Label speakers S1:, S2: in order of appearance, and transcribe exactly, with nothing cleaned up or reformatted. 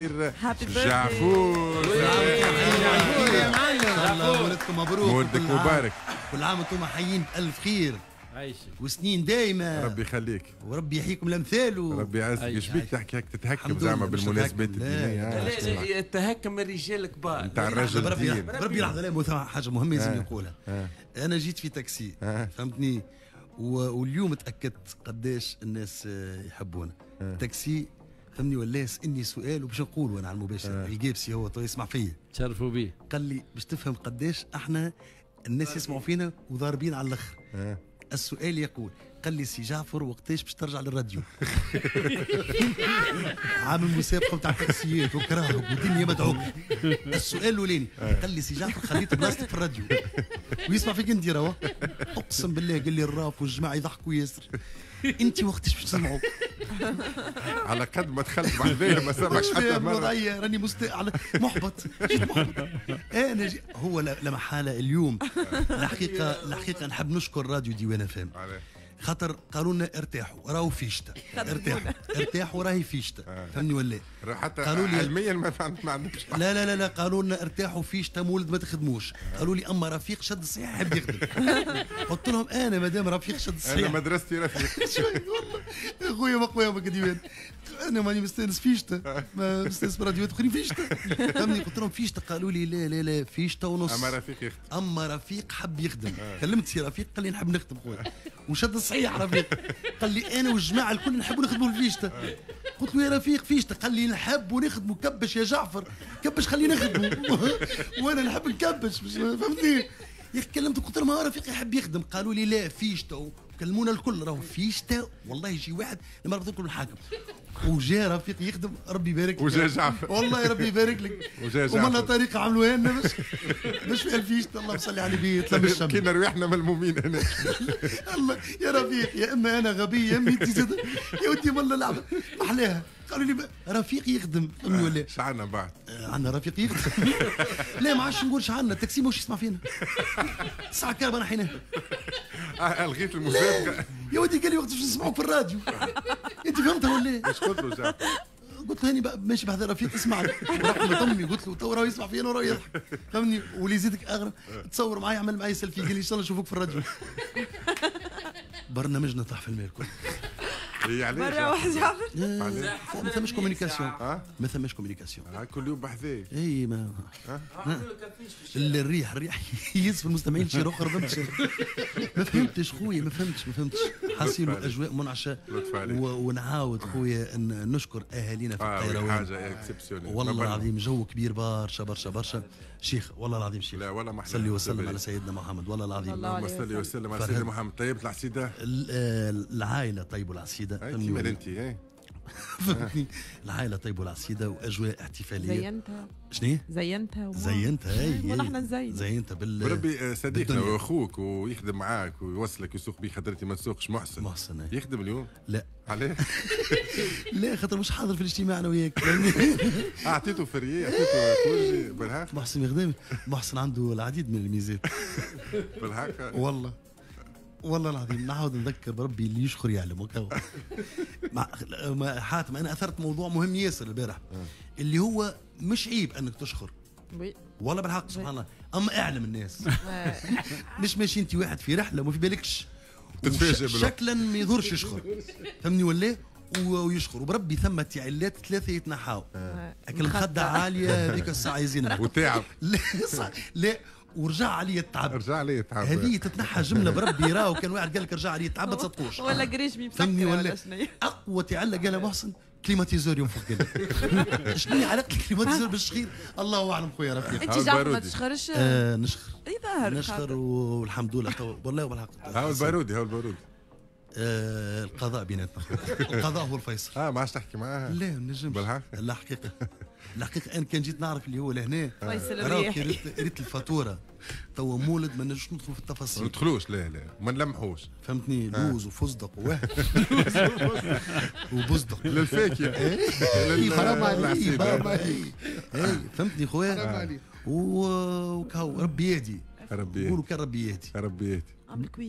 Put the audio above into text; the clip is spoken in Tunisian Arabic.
S1: جعفور.
S2: الله ولدكم مبروك،
S1: مولدك مبارك،
S2: كل عام وانتم حيين بألف خير وسنين دايمة.
S1: ربي يخليك
S2: وربي يحييكم لأمثاله،
S1: ربي يعزك. ايش بيك تحكي هيك تتهكم زعما بالمناسبات الدينية؟
S3: لا، التهكم الرجال الكبار
S1: نتاع الرجل الدين.
S2: ربي لحظة، لا حاجة مهمة لازم نقولها. أنا جيت في تاكسي فهمتني، واليوم تأكدت قداش الناس يحبونا. تاكسي فهمني ولا يسالني سؤال وباش نقول انا على المباشر. الجيبسي هو تو يسمع فيا،
S3: تشرفوا بيه،
S2: قال لي باش تفهم قداش احنا الناس يسمعوا فينا وضاربين على الاخر. أه. السؤال يقول، قال لي سي جعفر وقتاش باش ترجع للراديو؟ عامل مسابقة نتاع تاكسيات وكراهب ودنيا مدعوك. السؤال الاولاني قال لي سي جعفر خليت بلاصتك في الراديو ويسمع فيك انت راهو، اقسم بالله قال لي الراف والجماعة يضحكوا ياسر، انت وقتاش باش تسمعوا؟
S1: على قد ما دخلت بعدين ما سمعش حتى مرة.
S2: راني مست... على محبط، جيت محبط انا جي... هو لا محالة اليوم. الحقيقة الحقيقة نحب نشكر راديو ديوان اف ام، خاطر قالوا لنا ارتاحوا راهو في شتاء، ارتاحوا ارتاحوا راهي في شتاء، فهمني ولا؟
S1: حتى قالوا لي علميا ما عندكش.
S2: لا لا لا لا، قالوا لنا ارتاحوا في شتاء مولد ما تخدموش. قالوا لي اما رفيق شد الصحيح يحب يخدم. قلت لهم انا مادام رفيق شد الصحيح
S1: انا مدرستي رفيق.
S2: والله يا خويا ما خويا ما ديوان، انا ماني مستانس في شتاء، ما مستانس براديوات اخرين في شتاء، فهمني؟ قلت لهم في شتاء، قالوا لي لا لا لا في شتاء ونص.
S1: اما رفيق يخدم،
S2: اما رفيق حب يخدم. كلمت سي رفيق قال لي نحب نخدم خويا، وشد الصحيح رفيق. قال لي انا والجماعة الكل نحبوا نخدموا الفيشتا. قلت له يا رفيق فيشتا؟ قال لي نحبوا نخدموا. كبش يا جعفر كبش خلينا نخدموا، وانا نحب نكبش، فهمتني؟ يا اخي كلمت قلت لهم رفيق يحب يخدم، قالوا لي لا فيشتا. كلمونا الكل راهو فيشتا، والله يجي واحد لما ربط لكم الحاكم. وجا رفيق يخدم، ربي يبارك لك.
S1: وجا جعفر،
S2: والله ربي يبارك لك.
S1: وجا جعفر
S2: ومن طريقه عملوها لنا باش باش فيها الفيشتا. اللهم صل على النبي. تلم الشمس
S1: كنا رواحنا ملمومين هنا.
S2: الله يا رفيق، يا اما انا غبي يا اما انت زاد يا ودي والله لعبه محلاها. قالوا لي رفيق يخدم، فهمني ولا؟
S1: اش عندنا بعد؟
S2: عندنا رفيق يخدم. لا ما عادش نقول عندنا، التاكسي ماهوش يسمع فينا. الساعة كهرباء نحيناها.
S1: الغيت المسابقة
S2: يا ودي. قال لي وقت باش نسمعوك في الراديو. انت فهمتها ولا؟
S1: اش قلت له جعفر؟
S2: قلت له هاني ماشي بحذا رفيق اسمعني، رحمة امي. قلت له تو راه يسمع فينا وراه يضحك، فهمني؟ واللي يزيدك اغرب تصور معايا، عمل معايا سيلفي، قال لي ان شاء الله نشوفوك في الراديو. برنامجنا طاح في الماء الكل.
S4: مرة واحدة جعفر
S2: ما ثماش communication، ما ثماش communication.
S1: كل يوم بحذاك.
S2: اي ما الريح الريح يهز في المستمعين شي اخر، فهمتش؟ ما فهمتش خويا، ما فهمتش ما فهمتش. حاصيل اجواء منعشه، ونعاود خويا ان نشكر اهالينا في القيروان.
S1: حاجة exceptionnelle
S2: والله العظيم، جو كبير برشا برشا برشا شيخ، والله العظيم شيخ.
S1: لا والله ما
S2: صلي وسلم على سيدنا محمد، والله العظيم.
S1: اللهم صلي وسلم على سيدنا محمد. طيبت العصيده؟
S2: العائلة طيبوا العصيده.
S1: كيما انت ايه
S2: فهمتني؟ العائلة طيبوا العصيده واجواء احتفالية.
S4: زينتها.
S2: شنو؟
S4: زينتها
S2: زينتها اي
S4: ونحن نزين
S2: زينتها بال
S1: بربي. صديقنا واخوك ويخدم معاك ويوصلك ويسوق بيك، خاطر انت ما تسوقش. محسن
S2: محسن ايه.
S1: يخدم اليوم؟
S2: لا.
S1: علاه؟
S2: لا خاطر مش حاضر في الاجتماع انا وياك.
S1: اعطيته férié، اعطيته congé بالحق.
S2: محسن يخدم، محسن عنده العديد من الميزات
S1: بالحق
S2: والله والله العظيم. نعاود نذكر بربي اللي يشخر يعلم. وكهو مع حاتم انا اثرت موضوع مهم ياسر البارح، اللي هو مش عيب انك تشخر والله بالحق سبحان الله، اما اعلم الناس. مش ماشي انت واحد في رحله وما في بالكش
S1: تتفاجئ
S2: شكلا ما يضرش يشخر، فهمني ولا؟ ويشخر وبربي ثم تعلات ثلاثة يتنحاو. اكل مخده عالية هذيك الساعة يزينها
S1: وتعب.
S2: لا لا ورجع علي التعب،
S1: رجع علي التعب.
S2: هذه تتنحى جملة بربي. راهو كان واحد قال لك رجع علي التعب ما تصدقوش.
S4: ولا قريش مسكره ولا شنو.
S2: اقوى تعلة قالها محسن climatiseur ينفخ. قال لك شنو علاقة ال climatiseur بالشخير؟ الله اعلم خويا رفيق.
S4: انت جعفر ما تشخرش؟
S2: آه نشخر.
S4: اي ظاهر
S2: نشخر والحمد لله والله بالحق.
S1: هاو البارودي، هاو البارودي.
S2: آه القضاء بيناتنا، القضاء هو الفيصل.
S1: اه ما عادش تحكي معاه؟
S2: لا ما نجمش
S1: بالحق.
S2: الحقيقة الحقيقة انا كان جيت نعرف اللي هو لهنا
S4: فيصل الرياحي
S2: ريت, ريت الفاتورة توا مولد ما نجمش ندخلوا في التفاصيل.
S1: ما ندخلوش، لا لا ما نلمحوش،
S2: فهمتني؟ لوز وفستق واه وبزدق
S1: للفاكهه.
S2: حرام عليك، حرام عليك، فهمتني خويا؟ وكهو ربي يهدي،
S1: ربي
S2: نقولوا كان ربي يهدي،
S1: ربي يهدي.